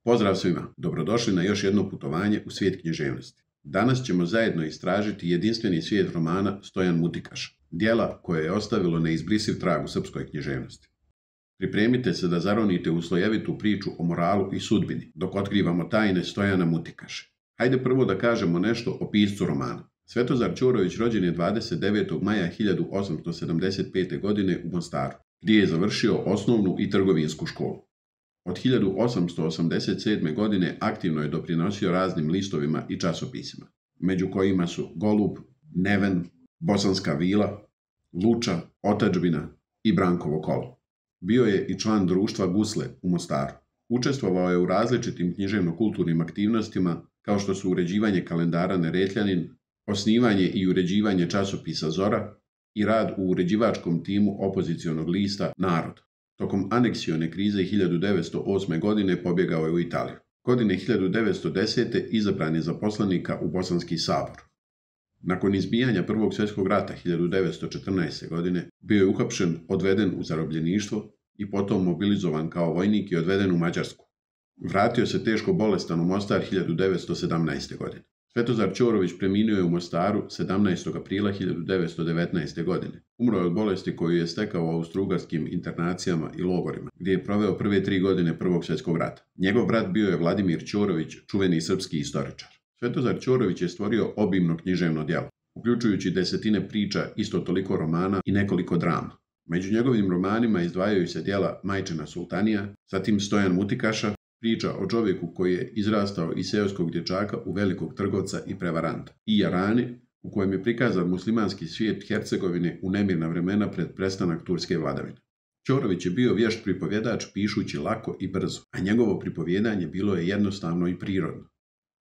Pozdrav svima, dobrodošli na još jedno putovanje u svijet književnosti. Danas ćemo zajedno istražiti jedinstveni svijet romana Stojan Mutikaša, djela koje je ostavilo neizbrisiv trag u srpskoj književnosti. Pripremite se da zaronite u slojevitu priču o moralu i sudbini, dok otkrivamo tajne Stojana Mutikaše. Hajde prvo da kažemo nešto o piscu romana. Svetozar Ćorović rođen je 29. maja 1875. godine u Mostaru, gdje je završio osnovnu i trgovinsku školu. Od 1887. godine aktivno je doprinosio raznim listovima i časopisima, među kojima su Golub, Neven, Bosanska vila, Luča, Otadžbina i Brankovo kolo. Bio je i član društva Gusle u Mostaru. Učestvovao je u različitim književno-kulturnim aktivnostima kao što su uređivanje kalendara Neretljanin, osnivanje i uređivanje časopisa Zora i rad u uređivačkom timu opozicionog lista Narod. Tokom aneksione krize 1908. godine pobjegao je u Italiju. Godine 1910. izabran je za poslanika u Bosanski sabor. Nakon izbijanja Prvog svjetskog rata 1914. godine bio je uhapšen, odveden u zarobljeništvo i potom mobilizovan kao vojnik i odveden u Mađarsku. Vratio se teško bolestan u Mostar 1917. godine. Svetozar Ćorović preminuo je u Mostaru 17. aprila 1919. godine. Umro je od bolesti koju je stekao u austrougarskim internacijama i logorima, gdje je proveo prve 3 godine Prvog svjetskog rata. Njegov brat bio je Vladimir Ćorović, čuveni srpski istoričar. Svetozar Ćorović je stvorio obimno književno djelo, uključujući desetine priča, isto toliko romana i nekoliko drama. Među njegovim romanima izdvajaju se djela Majčina sultanija, zatim Stojan Mutikaša, priča o čovjeku koji je izrastao iz seoskog dječaka u velikog trgovca i prevaranta, i Jarani, u kojem je prikazan muslimanski svijet Hercegovine u nemirna vremena pred prestanak turske vladavine. Ćorović je bio vješt pripovjedač pišući lako i brzo, a njegovo pripovjedanje bilo je jednostavno i prirodno.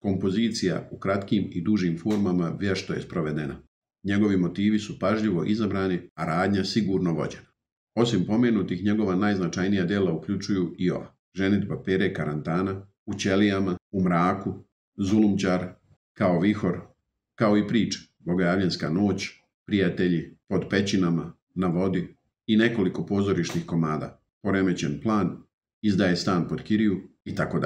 Kompozicija u kratkim i dužim formama vješto je sprovedena. Njegovi motivi su pažljivo izabrani, a radnja sigurno vođena. Osim pomenutih, njegova najznačajnija djela uključuju i ova: Ženidba Pere Karantana, U ćelijama, U mraku, Zulumčar, Kao vihor, kao i priče Bogojavljenska noć, Prijatelji, Pod pećinama, Na vodi i nekoliko pozorišnih komada, Poremećen plan, Izdaje stan pod kiriju itd.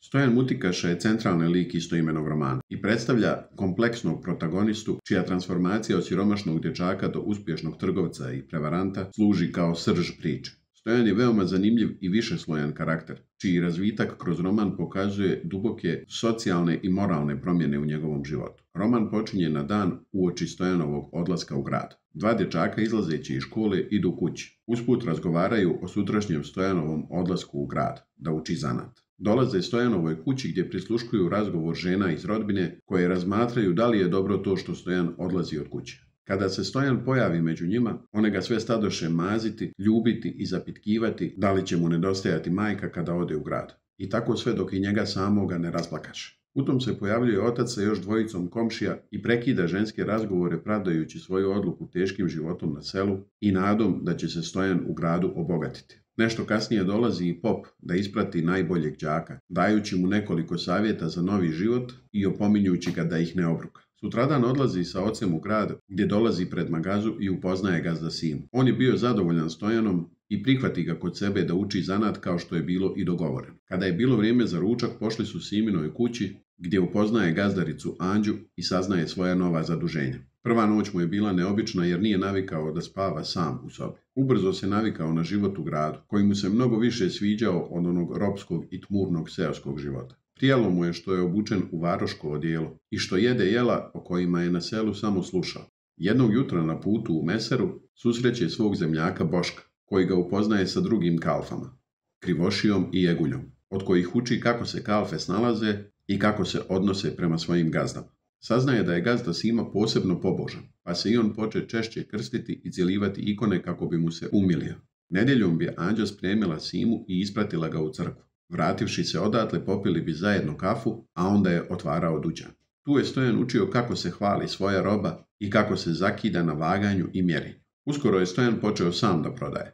Stojan Mutikaša je centralni lik istoimenog romana i predstavlja kompleksnog protagonistu čija transformacija od siromašnog dječaka do uspješnog trgovca i prevaranta služi kao srž priče. Stojan je veoma zanimljiv i višeslojan karakter, čiji razvitak kroz roman pokazuje duboke socijalne i moralne promjene u njegovom životu. Roman počinje na dan uoči Stojanovog odlaska u grad. Dva dječaka izlazeći iz škole idu kući. Usput razgovaraju o sutrašnjem Stojanovom odlasku u grad, da uči zanat. Dolaze Stojanovoj kući gdje prisluškuju razgovor žena iz rodbine koje razmatraju da li je dobro to što Stojan odlazi od kuće. Kada se Stojan pojavi među njima, one ga sve stadoše maziti, ljubiti i zapitkivati da li će mu nedostajati majka kada ode u grad. I tako sve dok i njega samoga ne rasplakaše. U tom se pojavljuje otac sa još dvojicom komšija i prekida ženske razgovore pravdajući svoju odluku teškim životom na selu i nadom da će se Stojan u gradu obogatiti. Nešto kasnije dolazi i pop da isprati najboljeg đaka, dajući mu nekoliko savjeta za novi život i opominjući ga da ih ne obruka. Sutradan odlazi sa ocem u grad gdje dolazi pred magazu i upoznaje gazda Simu. On je bio zadovoljan Stojanom i prihvati ga kod sebe da uči zanat kao što je bilo i dogovoreno. Kada je bilo vrijeme za ručak, pošli su Siminoj kući gdje upoznaje gazdaricu Anđu i saznaje svoja nova zaduženja. Prva noć mu je bila neobična jer nije navikao da spava sam u sobi. Ubrzo se navikao na život u gradu, koji mu se mnogo više sviđao od onog ropskog i tmurnog seoskog života. Prijalo mu je što je obučen u varoško odijelo i što jede jela o kojima je na selu samo slušao. Jednog jutra na putu u Meseru susreće svog zemljaka Boška, koji ga upoznaje sa drugim kalfama, Krivošijom i Jeguljom, od kojih uči kako se kalfe snalaze i kako se odnose prema svojim gazdama. Saznaje da je gazda Sima posebno pobožan, pa se i on poče češće krstiti i cijelivati ikone kako bi mu se umilio. Nedjeljom bi Anđa spremila Simu i ispratila ga u crkvu. Vrativši se odatle, popili bi zajedno kafu, a onda je otvarao dućan. Tu je Stojan učio kako se hvali svoja roba i kako se zakida na vaganju i mjeri. Uskoro je Stojan počeo sam da prodaje.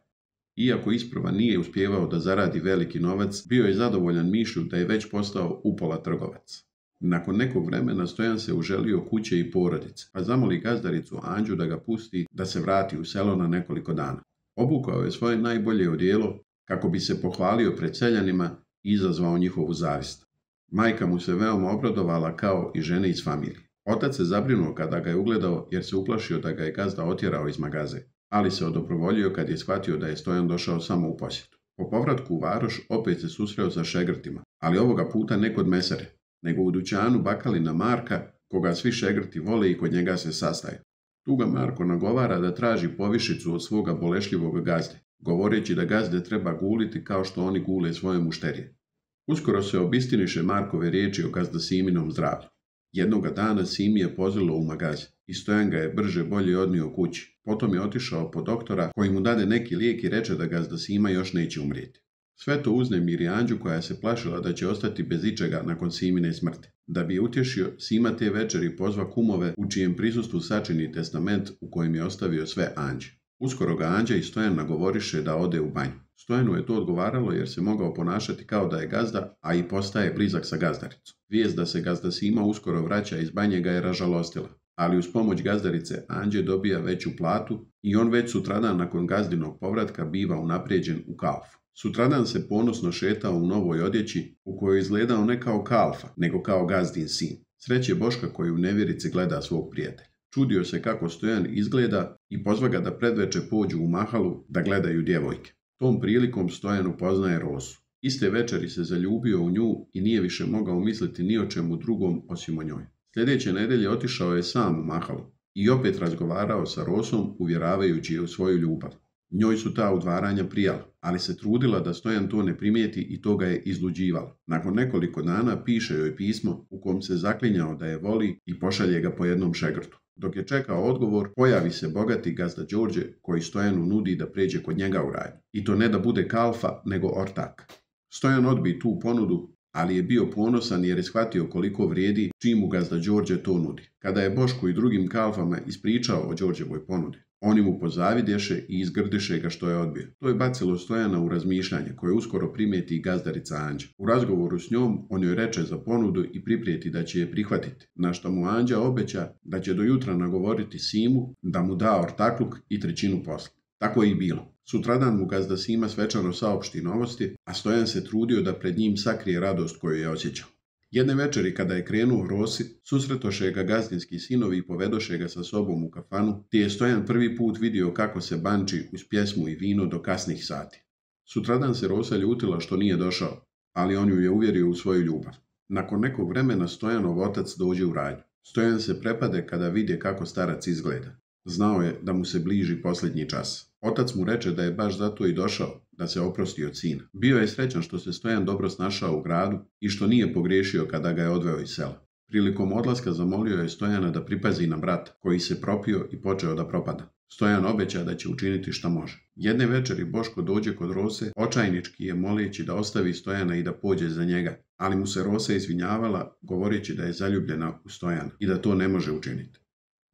Iako isprva nije uspijevao da zaradi veliki novac, bio je zadovoljan mišlju da je već postao upola trgovac. Nakon nekog vremena Stojan se uželio kuće i porodice, pa zamoli gazdaricu Anđu da ga pusti da se vrati u selo na nekoliko dana. Obukao je svoje najbolje odijelo kako bi se pohvalio pred seljanima i izazvao njihovu zavist. Majka mu se veoma obradovala kao i žene iz familije. Otac se zabrinuo kada ga je ugledao jer se uplašio da ga je gazda otjerao iz magaze, ali se odobrovoljio kad je shvatio da je Stojan došao samo u posjetu. Po povratku u varoš opet se susreo sa šegrtima, ali ovoga puta ne kod mesare, nego u dućanu bakalina Marka, koga svi šegrti vole i kod njega se sastaju. Tu ga Marko nagovara da traži povišicu od svoga bolešljivog gazde, govoreći da gazde treba guliti kao što oni gule svoje mušterije. Uskoro se obistiniše Markove riječi o gazda Siminom zdravlju. Jednoga dana Simi je pozvalo u magaze i Stojan ga je brže bolje odnio kući. Potom je otišao po doktora koji mu dade neki lijek i reče da gazda Sima još neće umrijeti. Sve to uznemiri Anđu koja se plašila da će ostati bez ičega nakon Simine smrti. Da bi je utješio, Sima te večeri pozva kumove u čijem prisustvu sačini testament u kojem je ostavio sve Anđi. Uskoro ga Anđa i Stojan nagovoriše da ode u banju. Stojanu je to odgovaralo jer se mogao ponašati kao da je gazda, a i postaje blizak sa gazdaricom. Vijest da se gazda Sima uskoro vraća iz banje ga je ražalostila, ali uz pomoć gazdarice Anđe dobija veću platu i on već sutradan nakon gazdinog povratka biva unaprijeđen u kalfu. Sutradan se ponosno šetao u novoj odjeći u kojoj je izgledao ne kao kalfa, nego kao gazdin sin. Sreće Boška koji u nevjerici gleda svog prijatelja. Čudio se kako Stojan izgleda i pozva ga da predveče pođu u mahalu da gledaju djevojke. Tom prilikom Stojan upoznaje Rosu. Iste večeri se zaljubio u nju i nije više mogao misliti ni o čemu drugom osim o njoj. Sljedeće nedelje otišao je sam u mahalu i opet razgovarao sa Rosom uvjeravajući je u svoju ljubav. Njoj su ta udvaranja prijala, ali se trudila da Stojan to ne primijeti i to ga je izluđivalo. Nakon nekoliko dana piše joj pismo u kom se zaklinjao da je voli i pošalje ga po jednom šegrtu. Dok je čekao odgovor, pojavi se bogati gazda Đorđe koji Stojanu nudi da pređe kod njega u radnju. I to ne da bude kalfa, nego ortak. Stojan odbi tu ponudu, ali je bio ponosan jer je shvatio koliko vrijedi čim mu gazda Đorđe to nudi. Kada je Bošku i drugim kalfama ispričao o Đorđevoj ponudi, oni mu pozavidješe i izgrdiše ga što je odbio. To je bacilo Stojana u razmišljanje koje uskoro primijeti i gazdarica Anđa. U razgovoru s njom on joj reče za ponudu i priprijeti da će je prihvatiti, na što mu Anđa obeća da će do jutra nagovoriti Simu da mu da ortakluk i trećinu posla. Tako je i bilo. Sutradan mu gazda Sima svečano saopšti novosti, a Stojan se trudio da pred njim sakrije radost koju je osjećao. Jedne večeri kada je krenuo Rosi, susretoše ga gazdinski sinovi i povedoše ga sa sobom u kafanu, te je Stojan prvi put vidio kako se banči uz pjesmu i vino do kasnih sati. Sutradan se Rosa ljutila što nije došao, ali on ju je uvjerio u svoju ljubav. Nakon nekog vremena Stojanov otac dođe u radnju. Stojan se prepade kada vidi kako starac izgleda. Znao je da mu se bliži posljednji čas. Otac mu reče da je baš zato i došao, da se oprosti od sina. Bio je srećan što se Stojan dobro snašao u gradu i što nije pogriješio kada ga je odveo iz sela. Prilikom odlaska zamolio je Stojana da pripazi na brata, koji se propio i počeo da propada. Stojan obeća da će učiniti šta može. Jedne večeri Boško dođe kod Rose, očajnički je moleći da ostavi Stojana i da pođe za njega, ali mu se Rosa izvinjavala, govoreći da je zaljubljena u Stojana i da to ne može učiniti.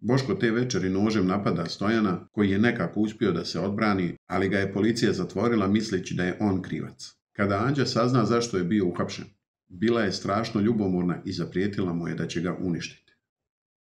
Boško te večeri nožem napada Stojana, koji je nekako uspio da se odbrani, ali ga je policija zatvorila misleći da je on krivac. Kada Anđa sazna zašto je bio uhapšen, bila je strašno ljubomorna i zaprijetila mu je da će ga uništiti.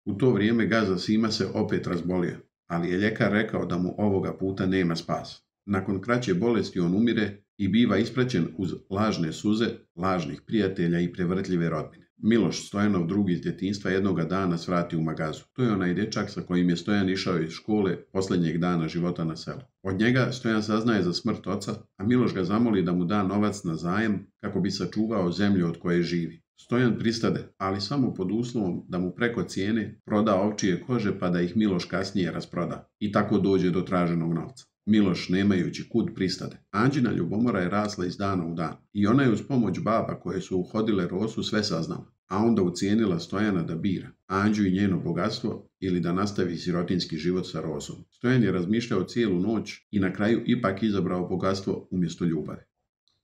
U to vrijeme gazda Sima se opet razbolio, ali je ljekar rekao da mu ovoga puta nema spasa. Nakon kraće bolesti on umire i biva ispraćen uz lažne suze, lažnih prijatelja i prevrtljive rodbine. Miloš, Stojanov drug iz djetinjstva, jednoga dana svrati u magazu. To je onaj dječak sa kojim je Stojan išao iz škole posljednjeg dana života na selu. Od njega Stojan saznaje za smrt oca, a Miloš ga zamoli da mu da novac na zajam kako bi sačuvao zemlju od koje živi. Stojan pristade, ali samo pod uslovom da mu preko cijene proda ovčije kože pa da ih Miloš kasnije rasproda i tako dođe do traženog novca. Miloš, nemajući kud, pristade. Anđina ljubomora je rasla iz dana u dan i ona je uz pomoć baba koje su uhodile Rosu sve saznala, a onda ucijenila Stojana da bira Anđu i njeno bogatstvo ili da nastavi sirotinski život sa Rosom. Stojan je razmišljao cijelu noć i na kraju ipak izabrao bogatstvo umjesto ljubavi.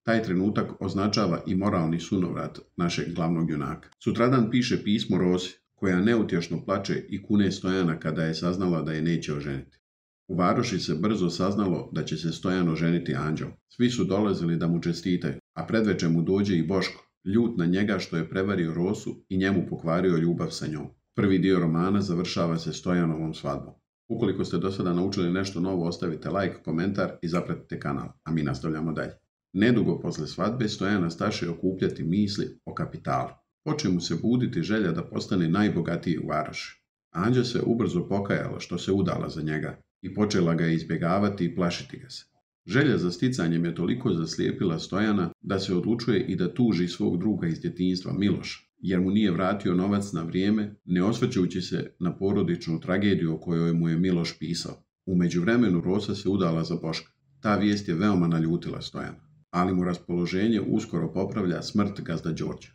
Taj trenutak označava i moralni sunovrat našeg glavnog junaka. Sutradan piše pismo Rosi, koja neutješno plače i kune Stojana kada je saznala da je neće oženiti. U varoši se brzo saznalo da će se Stojan oženiti Anđom. Svi su dolazili da mu čestitaju, a predveče mu dođe i Boško, ljut na njega što je prevario Rosu i njemu pokvario ljubav sa njom. Prvi dio romana završava se Stojanovom svadbom. Ukoliko ste do sada naučili nešto novo, ostavite like, komentar i zapratite kanal, a mi nastavljamo dalje. Nedugo posle svadbe Stojana staše okupljati misli o kapitalu. Poče mu se buditi želja da postane najbogatiji u varoši. Anđa se ubrzo pokajala što se udala za njega i počela ga izbjegavati i plašiti ga se. Želja za sticanjem je toliko zaslijepila Stojana da se odlučuje i da tuži svog druga iz djetinjstva Miloša, jer mu nije vratio novac na vrijeme, ne osvrćujući se na porodičnu tragediju o kojoj mu je Miloš pisao. U međuvremenu Rosa se udala za Boška. Ta vijest je veoma naljutila Stojana, ali mu raspoloženje uskoro popravlja smrt gazda Đorđa,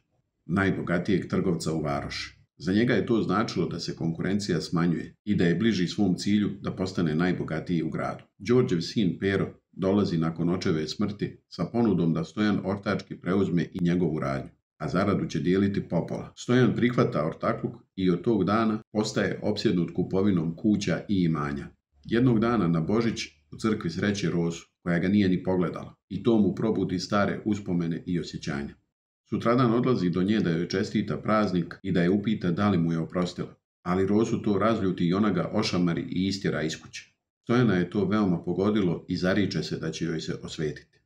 najbogatijeg trgovca u varoši. Za njega je to značilo da se konkurencija smanjuje i da je bliži svom cilju da postane najbogatiji u gradu. Đorđev sin Pero dolazi nakon očeve smrti sa ponudom da Stojan ortački preuzme i njegovu radnju, a zaradu će dijeliti popola. Stojan prihvata ortakluk i od tog dana postaje opsjednut kupovinom kuća i imanja. Jednog dana na Božić u crkvi sreće Rosu, koja ga nije ni pogledala, i to mu probudi stare uspomene i osjećanja. Sutradan odlazi do nje da joj čestita praznik i da je upita da li mu je oprostila, ali Rosu to razljuti i ona ga ošamari i istjera iz kuće. Stojana je to veoma pogodilo i zariče se da će joj se osvetiti.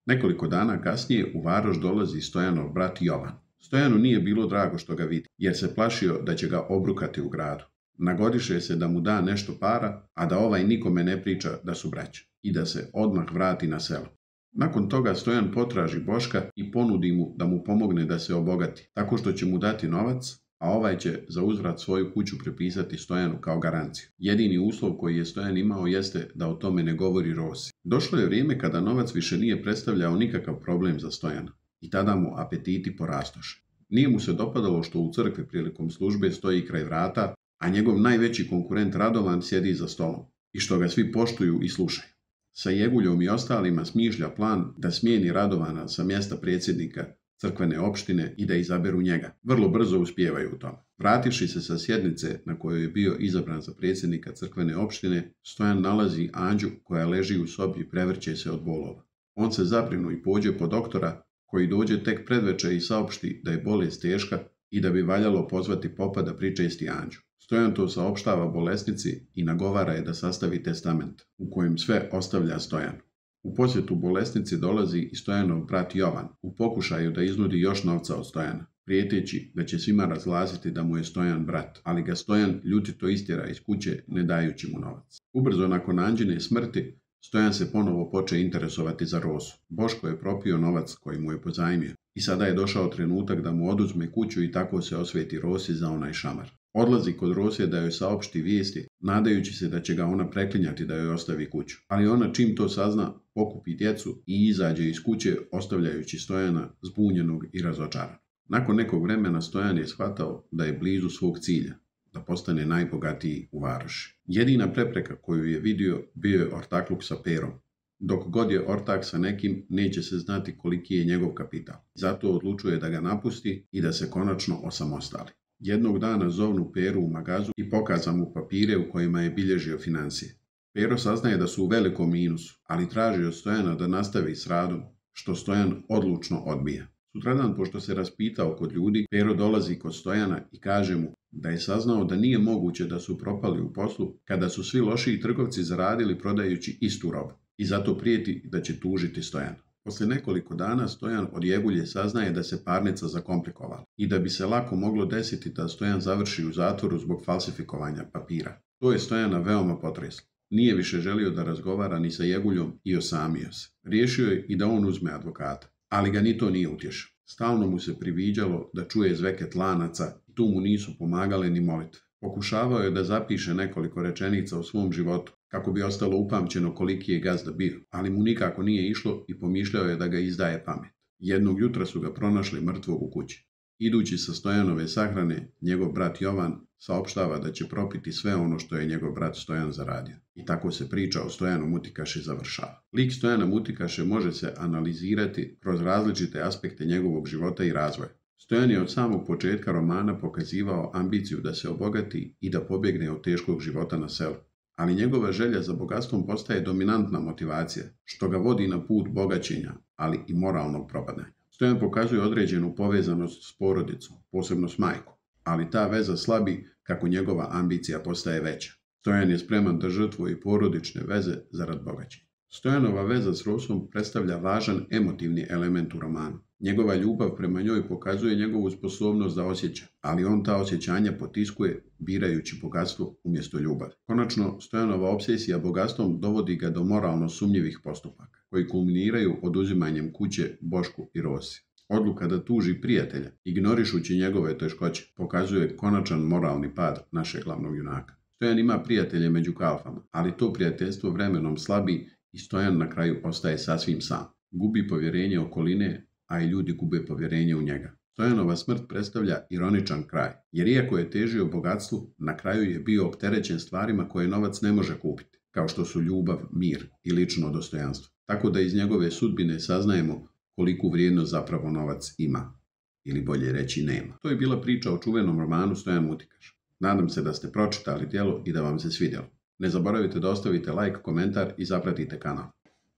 Nekoliko dana kasnije u varoš dolazi Stojanov brat Jovan. Stojanu nije bilo drago što ga vidi, jer se plašio da će ga obrukati u gradu. Nagodiše se da mu da nešto para, a da ovaj nikome ne priča da su braća i da se odmah vrati na selo. Nakon toga Stojan potraži Boška i ponudi mu da mu pomogne da se obogati, tako što će mu dati novac, a ovaj će za uzvrat svoju kuću prepisati Stojanu kao garanciju. Jedini uslov koji je Stojan imao jeste da o tome ne govori Rosi. Došlo je vrijeme kada novac više nije predstavljao nikakav problem za Stojana i tada mu apetiti porastoše. Nije mu se dopadalo što u crkvi prilikom službe stoji kraj vrata, a njegov najveći konkurent Radovan sjedi za stolom i što ga svi poštuju i slušaju. Sa Jeguljom i ostalima smišlja plan da smijeni Radovana sa mjesta predsjednika crkvene opštine i da izaberu njega. Vrlo brzo uspijevaju u tome. Vrativši se sa sjednice na kojoj je bio izabran za predsjednika crkvene opštine, Stojan nalazi Anđu koja leži u sobi i prevrće se od bolova. On se zabrinu i pođe po doktora, koji dođe tek predveče i saopšti da je bolest teška i da bi valjalo pozvati popa da pričesti Anđu. Stojan to saopštava bolesnici i nagovara je da sastavi testament, u kojem sve ostavlja Stojanu. U posjetu bolesnici dolazi i Stojanov brat Jovan, u pokušaju da iznudi još novca od Stojana, prijeteći da će svima razglasiti da mu je Stojan brat, ali ga Stojan ljutito istjera iz kuće ne dajući mu novac. Ubrzo nakon Anđine smrti, Stojan se ponovo poče interesovati za Rosu. Boško je propio novac koji mu je pozajmio i sada je došao trenutak da mu oduzme kuću i tako se osveti Rosi za onaj šamar. Odlazi kod Rose da joj saopšti vijesti, nadajući se da će ga ona preklinjati da joj ostavi kuću. Ali ona čim to sazna, pokupi djecu i izađe iz kuće, ostavljajući Stojana zbunjenog i razočaranog. Nakon nekog vremena Stojan je shvatao da je blizu svog cilja, da postane najbogatiji u varoši. Jedina prepreka koju je vidio bio je ortakluk sa Perom. Dok god je ortak sa nekim, neće se znati koliki je njegov kapital. Zato odlučuje da ga napusti i da se konačno osamostali. Jednog dana zovnu Peru u magazu i pokaza mu papire u kojima je bilježio financije. Pero saznaje da su u velikom minusu, ali traži od Stojana da nastavi s radom, što Stojan odlučno odbija. Sutradan, pošto se raspitao kod ljudi, Pero dolazi kod Stojana i kaže mu da je saznao da nije moguće da su propali u poslu kada su svi lošiji trgovci zaradili prodajući istu robu i zato prijeti da će tužiti Stojana. Posle nekoliko dana Stojan od Jegulje saznaje da se parnica zakomplikovala i da bi se lako moglo desiti da Stojan završi u zatvoru zbog falsifikovanja papira. To je Stojana veoma potreslo. Nije više želio da razgovara ni sa Jeguljom i osamio se. Riješio je i da on uzme advokata, ali ga ni to nije utješao. Stalno mu se priviđalo da čuje zveket lanaca i tu mu nisu pomagale ni molitve. Pokušavao je da zapiše nekoliko rečenica o svom životu, kako bi ostalo upamćeno koliki je gazda bio, ali mu nikako nije išlo i pomišljao je da ga izdaje pamet. Jednog jutra su ga pronašli mrtvog u kući. Idući sa Stojanove sahrane, njegov brat Jovan saopštava da će propiti sve ono što je njegov brat Stojan zaradio. I tako se priča o Stojanu Mutikaši završava. Lik Stojana Mutikaše može se analizirati kroz različite aspekte njegovog života i razvoja. Stojan je od samog početka romana pokazivao ambiciju da se obogati i da pobjegne od teškog života na selu. Ali njegova želja za bogatstvom postaje dominantna motivacija, što ga vodi na put bogaćenja, ali i moralnog propadanja. Stojan pokazuje određenu povezanost s porodicom, posebno s majkom, ali ta veza slabi kako njegova ambicija postaje veća. Stojan je spreman da žrtvuje porodične veze zarad bogaćenja. Stojanova veza s Rosom predstavlja važan emotivni element u romanu. Njegova ljubav prema njoj pokazuje njegovu sposobnost da osjeća, ali on ta osjećanja potiskuje birajući bogatstvo umjesto ljubavi. Konačno, Stojanova obsesija bogatstvom dovodi ga do moralno sumnjivih postupaka, koji kulminiraju oduzimanjem kuće Bošku i Rosi. Odluka da tuži prijatelja, ignorišući njegove teškoće, pokazuje konačan moralni pad našeg glavnog junaka. Stojan ima prijatelje među kalfama, ali to prijateljstvo vremenom slabi i Stojan na kraju ostaje sasvim sam. Gubi povjerenje okoline, a i ljudi gube povjerenje u njega. Stojanova smrt predstavlja ironičan kraj, jer iako je težio bogatstvu, na kraju je bio opterećen stvarima koje novac ne može kupiti, kao što su ljubav, mir i lično dostojanstvo. Tako da iz njegove sudbine saznajemo koliku vrijednost zapravo novac ima, ili bolje reći nema. To je bila priča o čuvenom romanu Stojan Mutikaš. Nadam se da ste pročitali djelo i da vam se svidjelo. Ne zaboravite da ostavite like, komentar i zapratite kanal.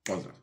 Pozdrav!